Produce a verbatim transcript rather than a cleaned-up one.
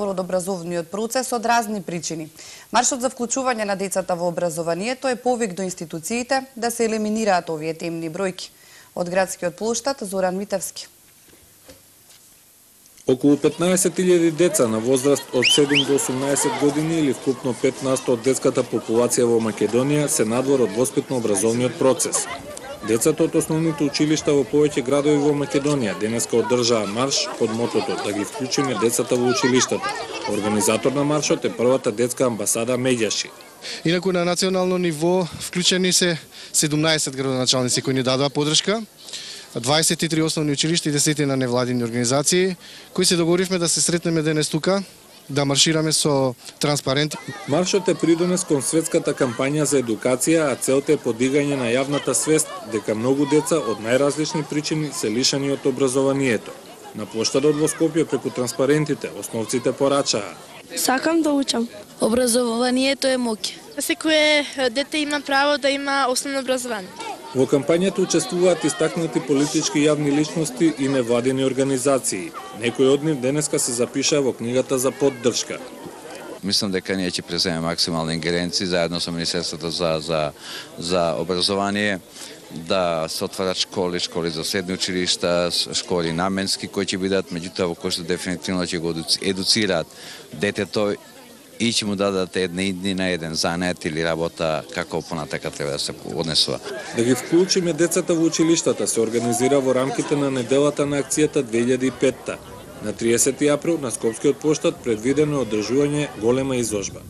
од образовниот процес од разни причини. Маршот за вклучување на децата во образованието е повик до институциите да се елиминираат овие темни бројки. Од градскиот плоштад Зоран Митевски. Околу петнаесет илјади деца на возраст од седум до осумнаесет години или вкупно пет на сто од детската популација во Македонија се надвор од воспитно-образовниот процес. Децата од основните училишта во повеќе градови во Македонија денеска одржаа марш под мотото да ги вклучиме децата во училиштата. Организатор на маршот е првата детска амбасада Медјаши. Инаку на национално ниво вклучени се седумнаесет градоначалници кои ни дадоа поддршка, дваесет и три основни училишта и десетина невладини организации, кои се договоривме да се сретнеме денес тука, да маршираме со транспаренти. Маршот е придонес кон светската кампања за едукација, а целта е подигање на јавната свест дека многу деца од најразлични причини се лишени од образованието. На плоштадот во Скопје преку транспарентите основците порачаа: сакам да учам. Образованието е моќ. Секое дете има право да има основно образование. Во кампањата учествуваат истакнати политички јавни личности и невладини организации. Некои од нив денеска се запишаа во книгата за поддршка. Мислам дека ние ќе преземе максимални ингеренции заедно со Министерството за за за образование, да се отварат школи, школи за средни училишта, школи наменски кои ќе бидат, меѓутоа во кои што дефинитивно ќе го едуцираат детето и ќе му дадат една иднина, еден занет или работа како понатака треба да се однесува. Да ги вклучиме децата во училиштата се организира во рамките на неделата на акцијата две илјади и петта. На триесети април на Скопскиот плоштад предвидено е одржување голема изложба.